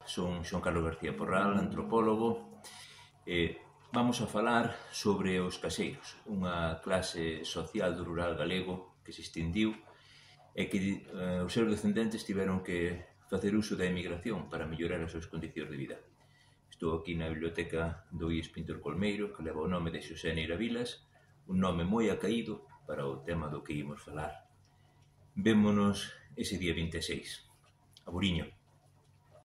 Son Xoán Carlos García Porral, antropólogo, e vamos a falar sobre os caseiros, unha clase social do rural galego que se extindiu e que os seus descendentes tiveron que facer uso da emigración para mellorar as súas condicións de vida. Estou aquí na biblioteca do IES Pintor Colmeiro, que leva o nome de Xosé Neira Vilas, un nome moi acaído para o tema do que imos falar. Vémonos ese día 26, a Buriño.